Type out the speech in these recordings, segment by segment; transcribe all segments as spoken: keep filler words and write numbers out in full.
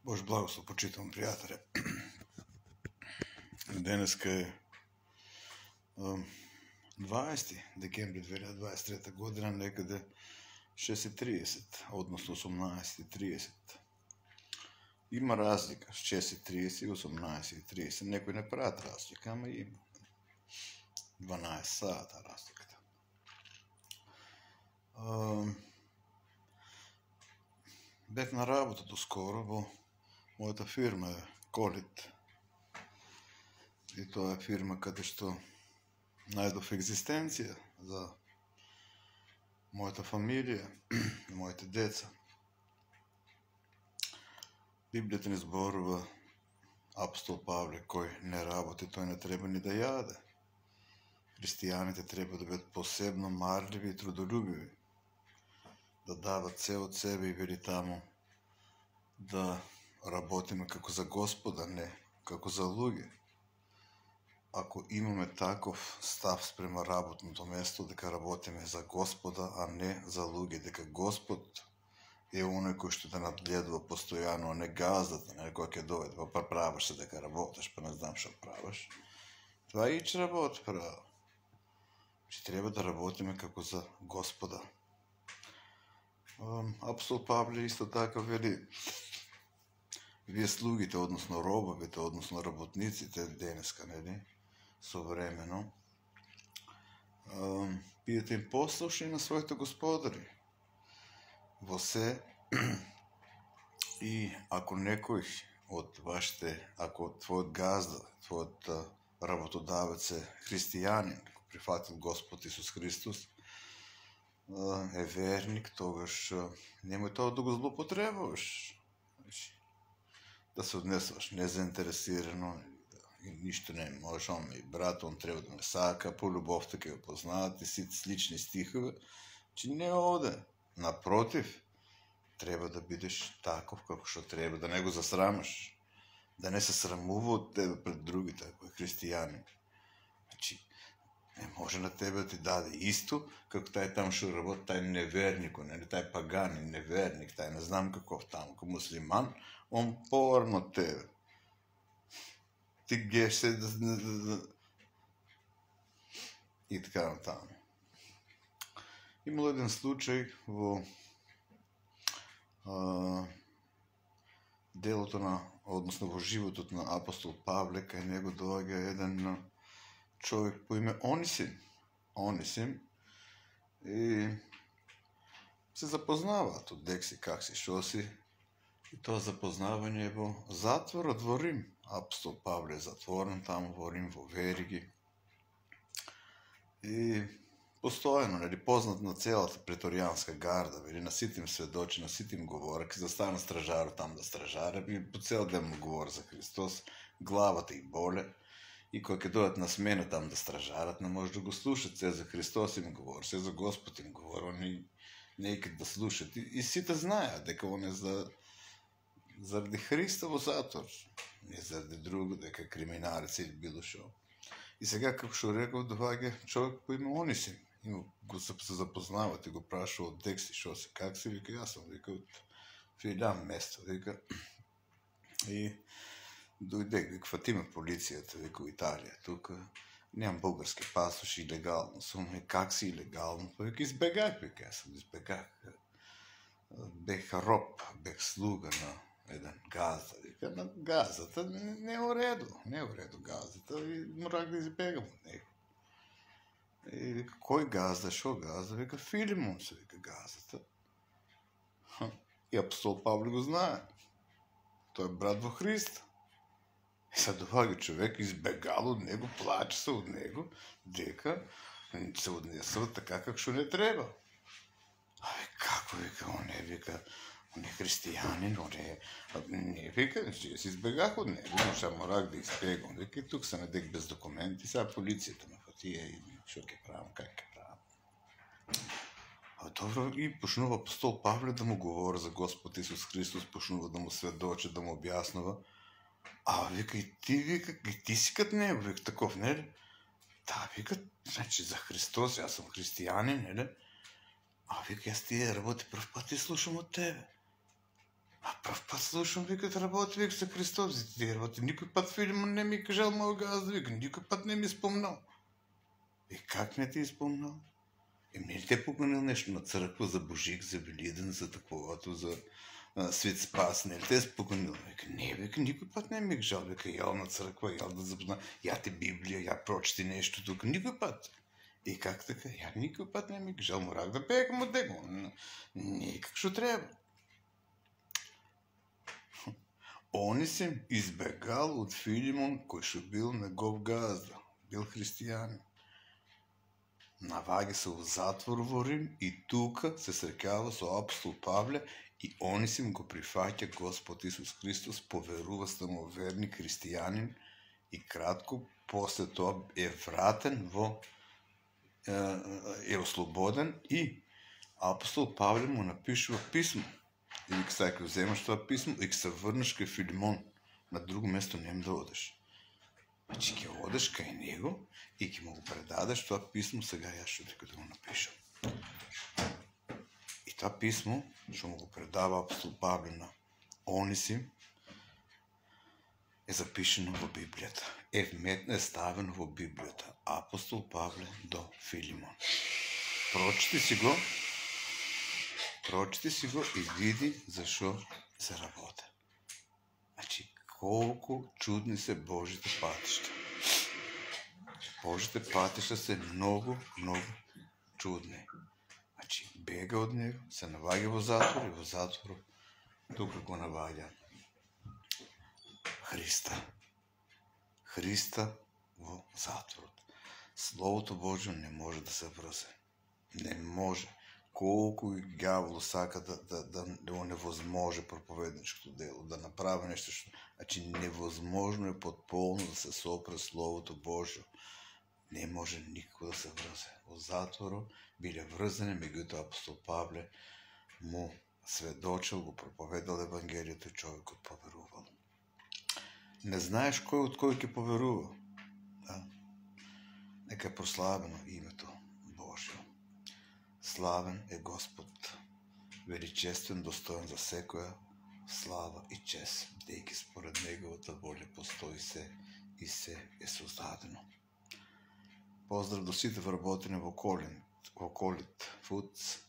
Бож благослов, почитувам пријателе. Денеска е дваесети декември две илјади дваесет и трета година, некаде шест и триесет, односно осумнаесет и триесет. Има разлика с шест и триесет и осумнаесет и триесет. Некои не прават разлика, ама има. дванаесет сата разликата. Бев на работа доскоро во мојата фирма е Колит. И тоа е фирма каде што најдов екзистенција за мојата фамилија и моите деца. Библијата ни зборува апостол Павле, кој не работи, тој не треба ни да јаде. Христијаните треба да бидат посебно марливи и трудолюбиви, да дават се од себе и вели таму да работиме како за Господа, не како за луѓе. Ако имаме таков став спрема работното место, дека работиме за Господа, а не за луѓе, дека Господ е оној кој што да надгледува постојано, а не газдата, не кој ќе дојде, па правиш се дека работиш, па не знам што правиш. Това е ич работ право. Че треба да работиме како за Господа. Апостол Павле исто така вели: вие слугите, односно робовите, односно работниците денеска, нели, современо, бидете им послушни на своите господари во се, и ако некој од вашите, ако твојот газда, твојот работодавец е христијанин, прифатил Господ Исус Христос, е верник, тогаш немој тоа да го злоупотребуваш. Да се однесуваш незаинтересирано, ништо не можеш, он и брат, он треба да ме сака, по љубовта ќе го познаат и сите слични стихови, че не оде. Напротив, треба да бидеш таков како што треба, да не го засрамаш, да не се срамува од тебе пред другите, ако е христијанин. Значи, не може на тебе да ти даде исто, како тај там што работи, тај неверник, нели, тај паганин, неверник, тај не знам каков таму, како муслиман, он поварно од тебе. Ти геш се да... и така натаму. Имало еден случај во а, делото на, односно во животот на апостол Павле, кај него доаѓа еден човек по име Онисим. Онисим и се запознаваат од дек си, как си, шо си. И тоа запознавање е во затворот во Рим. Апостол Павле е затворен таму во Рим, во вериги. И постојано, нели, познат на целата преторијанска гарда, вели, на сите им сведочи, на сите им говори, ке застана стражарот там да стражара, и по цел ден му говори за Христос, главата и боле. И кога ќе дојдат на смена там да стражарат, не може да го слушат, се за Христос им говори, се за Господ им говори, они не икат да слушат. И, и сите знаеат дека он е за заради Христа во затвор, не заради друго, дека криминалец или било шо. И сега, како што реков, доаѓа човек по име Онисим, и го се запознават и го прашува од дек си, шо си, как си, вика, јас сум, вика, од Филјан место, вика. И дојде, вика, фатиме полицијата, вика, у Италија, тука, немам български пасош, илегално сум, и как си илегално, вика, избегах, вика, јас сум избегах. Бех роб, бех слуга на еден газда, вика, на газдата не е уреду, не е уреду газдата, и морах да избегам од него. И вика, кој газда, шо газда, вика, Филимон се, вика, газдата. И апостол Павле го знае, тој е брат во Христа. И сега доаѓа човек, избегал од него, плаче се од него, дека се однесува така како што не треба. Абе, како, вика, он е, вика, он е христијанин, он е... Не, вика, че си избегах од него, но ша морак да избегам. Вика, и тук се недек без документи, сега полицијата ме фатија и шо ќе правам, как ќе правам. А добро, и почнува апостол Павле да му говори за Господ Исус Христос, почнува да му сведочи, да му објаснува. А, вика, и ти, вика, и ти си кад него, вика, таков, нели? Да, вика, значи, за Христос, јас сум христијанин, нели? А, вика, јас тие работи прв пат и слушам од тебе. А прв пат слушам, вика, да работи, вика, за Христос. Ти работи, никой пат Филимон не ми кажал мој газда, вика, никой пат не ми спомнал. И как не ти спомнал? И не ли те поканил нещо на църква за Божик, за Велиден, за таковато, за а, Свет Спас, не ли те споканил? Вика, не, вика, никой път не ми кажал, вика, ял на църква, ял да запозна, я ти Библия, я прочети нещо тук, никой път. И как така? Я никой път не ми кажал, морах да пея към от него. Не, как ще трябва. Онисим избегал от Филимон, кој шо бил негов газда, бил христијанин. Наваѓа се у затвор во Рим и тука се среќава со апостол Павле и Онисим го прифаќа Господ Исус Христос, поверува самоверни христијанин и кратко после тоа е вратен во е ослободен и апостол Павле му напишува писмо. И вика, сега ќе вземаш тоа писмо и ќе се врнеш кај Филимон. На друго место нема да одеш. Значи ќе одеш кај него и ќе му го предадеш тоа писмо, сега јас што дека да го напишам. И тоа писмо, што му го предава апостол Павле на Онисим, е запишено во Библијата. Е вметно е ставено во Библијата. Апостол Павле до Филимон. Прочити си го, прочити си го и види зашо се работи. Значи, колку чудни се Божите патишта. Божите патишта се многу, многу чудни. Значи, бега од него, се наваѓа во затвор и во затвор тука го наваѓа Христа. Христа во затворот. Словото Божјо не може да се врзе. Не може. Колку и ѓавол сака да, да, да, да невозможе проповедничкото дело, да направи нешто што... Значи, невозможно е потполно да се сопре Словото Божјо. Не може никако да се врзе. Во затворо биле врзани, меѓутоа апостол Павле му сведочил, го проповедал Евангелието и човекот поверувал. Не знаеш кој од кој ќе поверува. Да? Нека е прославено името Божјо. Славен е Господ, величествен, достоен за секоја слава и чест, бидејќи според неговата воља постои се и се е создадено. Поздрав до сите вработени во Колин, во Колит Фудс,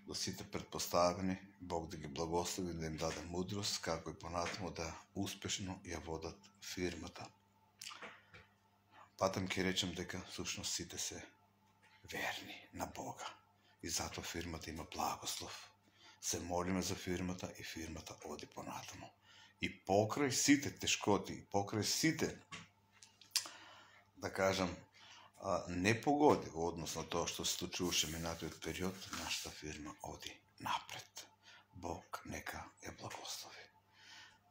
до сите предпоставени, Бог да ги благослови, да им даде мудрост, како и понатаму да успешно ја водат фирмата. Патам ќе речем дека всушност сите се верни на Бога. И затоа фирмата има благослов. Се молиме за фирмата и фирмата оди понатаму. И покрај сите тешкоти, и покрај сите, да кажам, непогоди во однос на тоа што се случуваше минатиот период, нашата фирма оди напред. Бог нека ја благослови.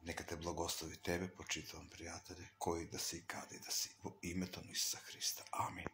Нека те благослови тебе, почитувам пријатели, кои да си и каде да си, во името на Исуса Христа. Амин.